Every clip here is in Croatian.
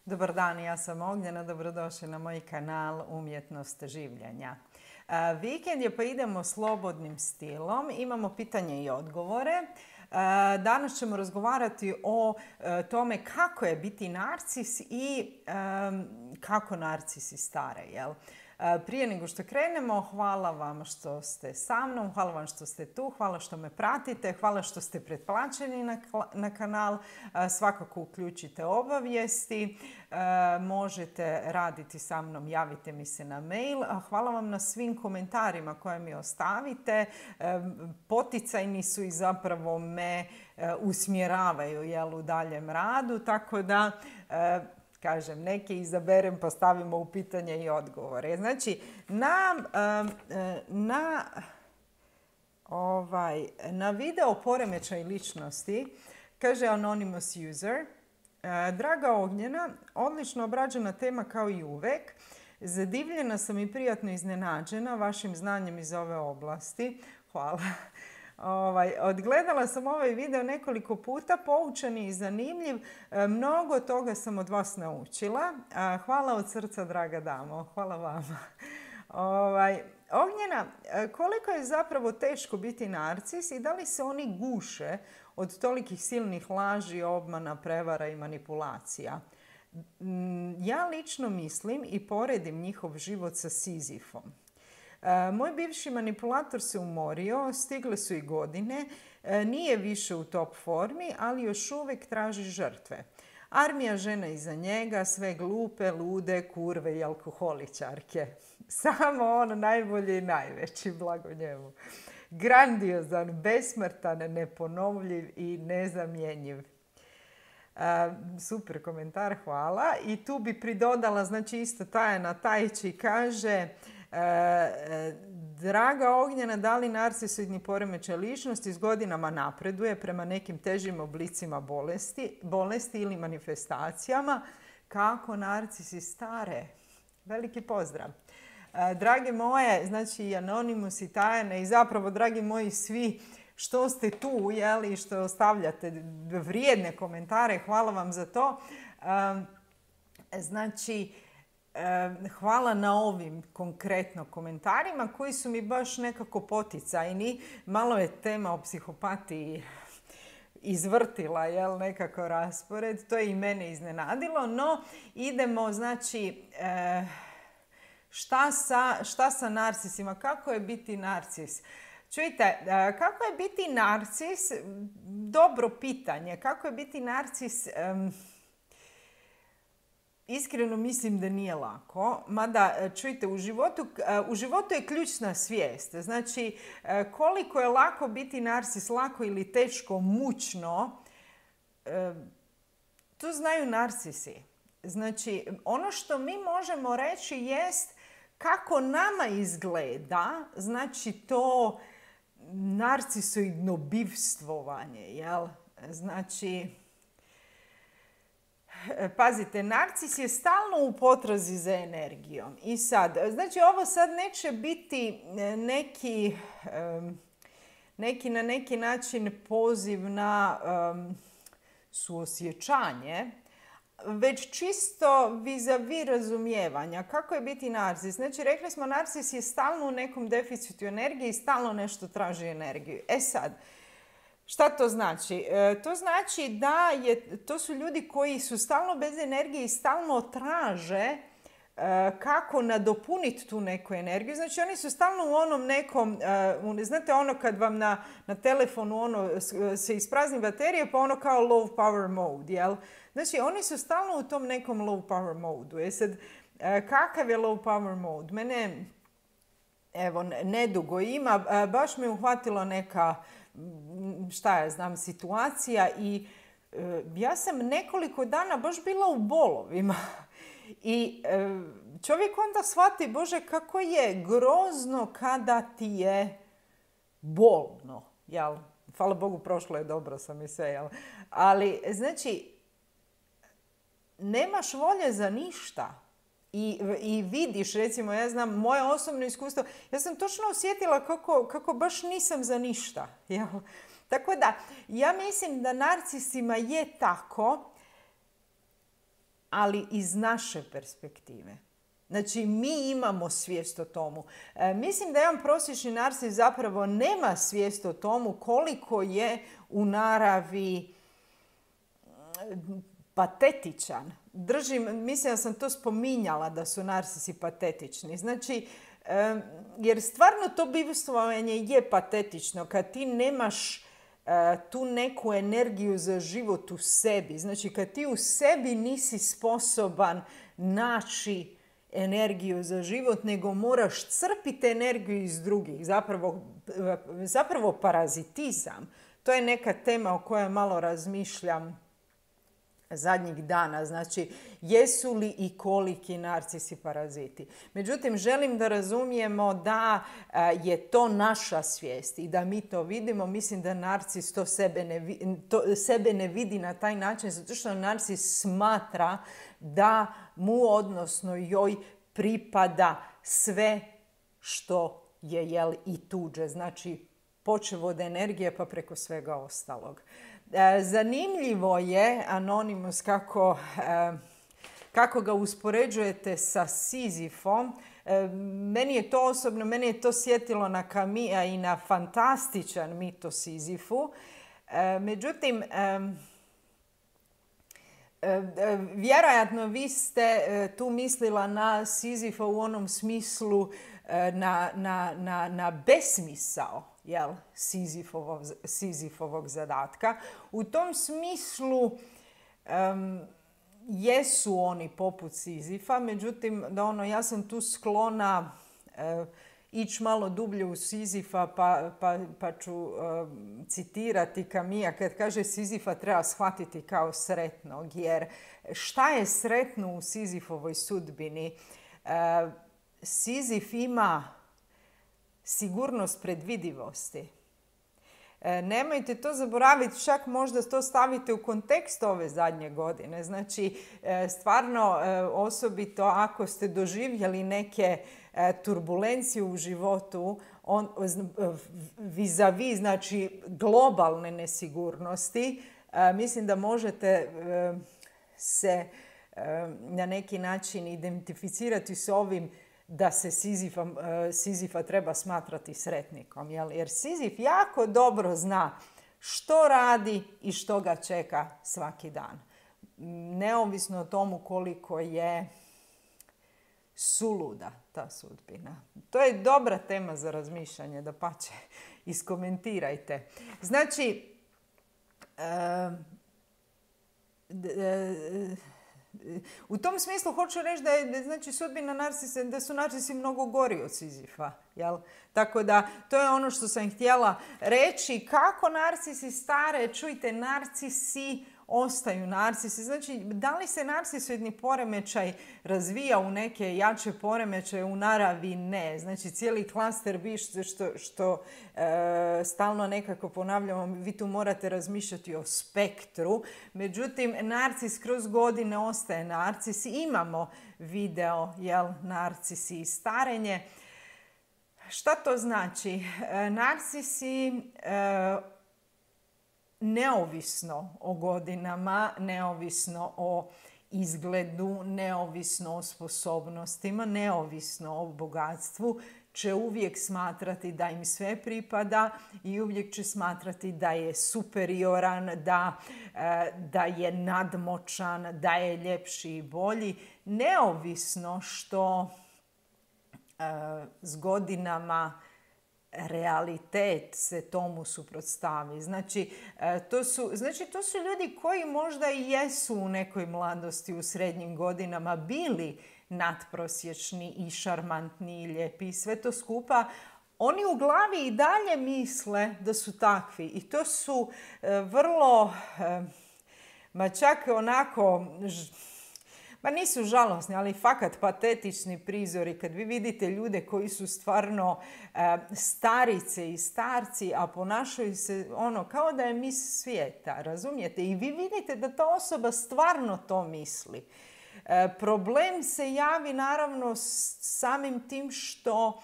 Dobar dan, ja sam Ognjena, dobrodošli na moj kanal Umjetnost življenja. Vikend je pa idemo slobodnim stilom, imamo pitanje i odgovore. Danas ćemo razgovarati o tome kako je biti narcis i kako narcisi stare, jel? Prije nego što krenemo, hvala vam što ste sa mnom, hvala vam što ste tu, hvala što me pratite, hvala što ste pretplaćeni na kanal. Svakako uključite obavijesti, možete raditi sa mnom, javite mi se na mail. Hvala vam na svim komentarima koje mi ostavite. Poticajni su i zapravo me usmjeravaju, jel, u daljem radu, tako da kažem, neke izaberem pa stavimo u pitanje i odgovore. Znači, na video poremećaj ličnosti, kaže Anonymous User, draga Ognjena, odlično obrađena tema kao i uvek. Zadivljena sam i prijatno iznenađena vašim znanjem iz ove oblasti. Hvala. Odgledala sam ovaj video nekoliko puta, poučen i zanimljiv. Mnogo toga sam od vas naučila. Hvala od srca, draga damo. Hvala vama. Ognjena, koliko je zapravo teško biti narcis i da li se oni guše od tolikih silnih laži, obmana, prevara i manipulacija? Ja lično mislim i poredim njihov život sa Sizifom. Moj bivši manipulator se umorio, stigle su i godine, nije više u top formi, ali još uvijek traži žrtve. Armija žena iza njega, sve glupe, lude, kurve i alkoholičarke. Samo on najbolji i najveći, blago njemu. Grandiozan, besmrtan, neponovljiv i nezamjenjiv. Super komentar, hvala. I tu bi pridodala, znači isto Tajana Tajči kaže: draga Ognjena, da li narcisoidni poremećaj ličnosti s godinama napreduje prema nekim težim oblicima bolesti ili manifestacijama? Kako narcisi stare? Veliki pozdrav. Drage moje, znači i Anonymous i Tajana i zapravo dragi moji svi što ste tu, jeli, što ostavljate vrijedne komentare, hvala vam za to. Znači, hvala na ovim konkretno komentarima koji su mi baš nekako poticajni. Malo je tema o psihopatiji izvrtila, jel, nekako raspored. To je i mene iznenadilo, no idemo, znači, šta sa narcisima? Kako je biti narcis? Čujte, kako je biti narcis? Dobro pitanje. Kako je biti narcis? Iskreno mislim da nije lako, mada čujte, u životu je ključna svijest. Znači, koliko je lako biti narcis, lako ili teško, mučno, to znaju narcisi. Znači, ono što mi možemo reći jest kako nama izgleda, znači to narcisoidno bivstvovanje, jel? Znači, pazite, narcis je stalno u potrazi za energijom. I sad, znači ovo sad neće biti neki na neki način poziv na suosjećanje, već čisto vis-a-vis razumijevanja. Kako je biti narcis? Znači, rekli smo, narcis je stalno u nekom deficitu energije i stalno nešto traži energiju. E sad, šta to znači? To znači da to su ljudi koji su stalno bez energije i stalno traže kako nadopuniti tu neku energiju. Znači, oni su stalno u onom nekom, znate ono kad vam na telefonu se isprazni baterije, pa ono kao low power mode, jel? Znači, oni su stalno u tom nekom low power mode. Sad, kakav je low power mode? Mene, evo, nedugo ima, baš me uhvatilo neka, šta ja znam, situacija i ja sam nekoliko dana baš bila u bolovima. I čovjek onda shvati, Bože, kako je grozno kada ti je bolno, jel? Hvala Bogu, prošlo je dobro sam i sve, jel? Ali, znači, nemaš volje za ništa. I vidiš, recimo, ja znam, moje osobno iskustvo, ja sam točno osjetila kako baš nisam za ništa, jel? Tako da, ja mislim da narcisima je tako, ali iz naše perspektive. Znači, mi imamo svijest o tomu. Mislim da jedan prosječni narcis zapravo nema svijest o tomu koliko je u naravi patetičan. Mislim da sam to spominjala da su narcisi patetični. Znači, jer stvarno to bivstvovanje je patetično kad ti nemaš tu neku energiju za život u sebi. Znači, kad ti u sebi nisi sposoban naći energiju za život, nego moraš crpiti energiju iz drugih. Zapravo parazitizam. To je neka tema o kojoj malo razmišljam zadnjih dana. Znači, jesu li i koliki narcisi paraziti? Međutim, želim da razumijemo da je to naša svijest i da mi to vidimo. Mislim da narcis to sebe ne vidi na taj način, zato što narcis smatra da mu, odnosno joj, pripada sve što je i tuđe. Znači, počev od energije pa preko svega ostalog. Zanimljivo je Anonymous kako ga uspoređujete sa Sizifom. Meni je to sjetilo na Camilla i na fantastičan mit o Sizifu. Međutim, vjerojatno vi ste tu mislila na Sizifa u onom smislu na besmisao, Sizifovog zadatka. U tom smislu jesu oni poput Sizifa, međutim, ja sam tu sklona ići malo dublje u Sizifa, pa ću citirati Camilla kad kaže Sizifa treba shvatiti kao sretnog, jer šta je sretno u Sizifovoj sudbini? Sizif ima sigurnost predvidivosti. Nemojte to zaboraviti, čak možda to stavite u kontekst ove zadnje godine. Znači, stvarno, osobito ako ste doživjeli neke turbulencije u životu, vis-a-vis, znači globalne nesigurnosti, mislim da možete se na neki način identificirati s ovim da se Sizifa treba smatrati sretnikom. Jer Sizif jako dobro zna što radi i što ga čeka svaki dan. Neovisno o tomu koliko je suluda ta sudbina. To je dobra tema za razmišljanje, dapače, iskomentirajte. Znači, u tom smislu hoću reći da je, znači, sudbina narcisa, da su narcisi mnogo gori od Sizifa. Jel? Tako da, to je ono što sam htjela reći. Kako narcisi stare? Čujte, narcisi ostaju narcisi. Znači, da li se narcisoidni poremećaj razvija u neke jače poremećaje u naravi? Ne. Znači, cijeli klaster bište što stalno nekako ponavljamo, vi tu morate razmišljati o spektru. Međutim, narcis kroz godine ostaje narcis. Imamo video, narcisi i starenje. Šta to znači? Narcisi neovisno o godinama, neovisno o izgledu, neovisno o sposobnostima, neovisno o bogatstvu, će uvijek smatrati da im sve pripada i uvijek će smatrati da je superioran, da je nadmoćan, da je ljepši i bolji, neovisno što s godinama realitet se tomu suprotstavi. Znači, to su ljudi koji možda i jesu u nekoj mladosti, u srednjim godinama bili nadprosječni i šarmantni i lijepi i sve to skupa. Oni u glavi i dalje misle da su takvi i to su vrlo, čak onako, nisu žalosni, ali fakat patetični prizori kad vi vidite ljude koji su stvarno starice i starci, a ponašaju se kao da je mis svijeta, razumijete? I vi vidite da ta osoba stvarno to misli. Problem se javi naravno samim tim što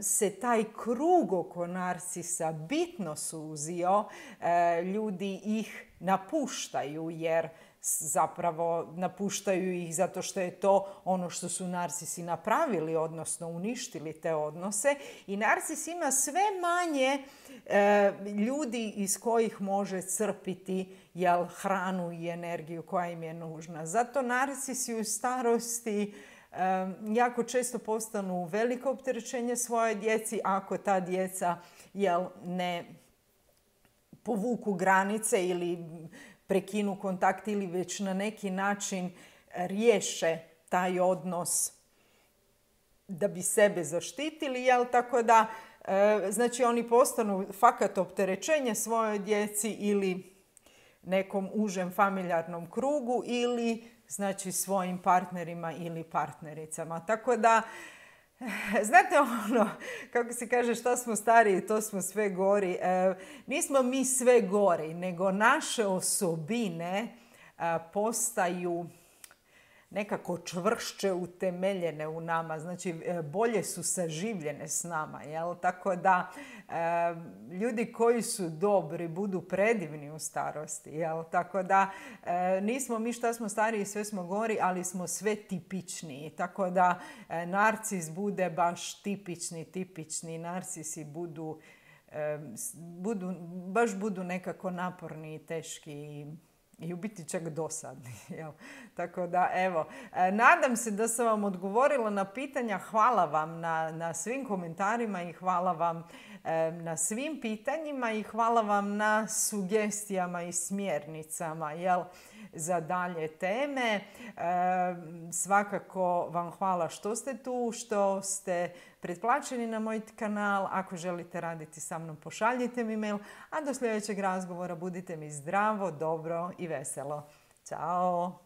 se taj krug oko narcisa bitno suzio, ljudi ih napuštaju jer zapravo napuštaju ih zato što je to ono što su narcisi napravili, odnosno uništili te odnose. I narcis ima sve manje ljudi iz kojih može crpiti hranu i energiju koja im je nužna. Zato narcisi u starosti jako često postanu veliko opterećenje svoje djeci ako ta djeca ne povuku granice ili prekinu kontakt ili već na neki način riješe taj odnos da bi sebe zaštitili, tako da znači oni postanu fakat opterećenje svojoj djeci ili nekom užem familijarnom krugu ili znači svojim partnerima ili partnericama. Tako da, znate ono, kako se kaže, šta smo stariji, to smo sve gori. Nismo mi sve gori, nego naše osobine postaju nekako čvršće utemeljene u nama, znači bolje su saživljene s nama, Tako da ljudi koji su dobri budu predivni u starosti, Tako da nismo mi šta smo stariji, sve smo gori, ali smo sve tipičniji, tako da narcis bude baš tipični, narcisi budu nekako naporni i teški i u biti čak dosadni. Tako da, evo, nadam se da sam vam odgovorila na pitanja. Hvala vam na svim komentarima i hvala vam na svim pitanjima i hvala vam na sugestijama i smjernicama za dalje teme. Svakako vam hvala što ste tu, što ste pretplaćeni na moj kanal. Ako želite raditi sa mnom, pošaljite mi mail. A do sljedećeg razgovora budite mi zdravo, dobro i veselo. Ćao!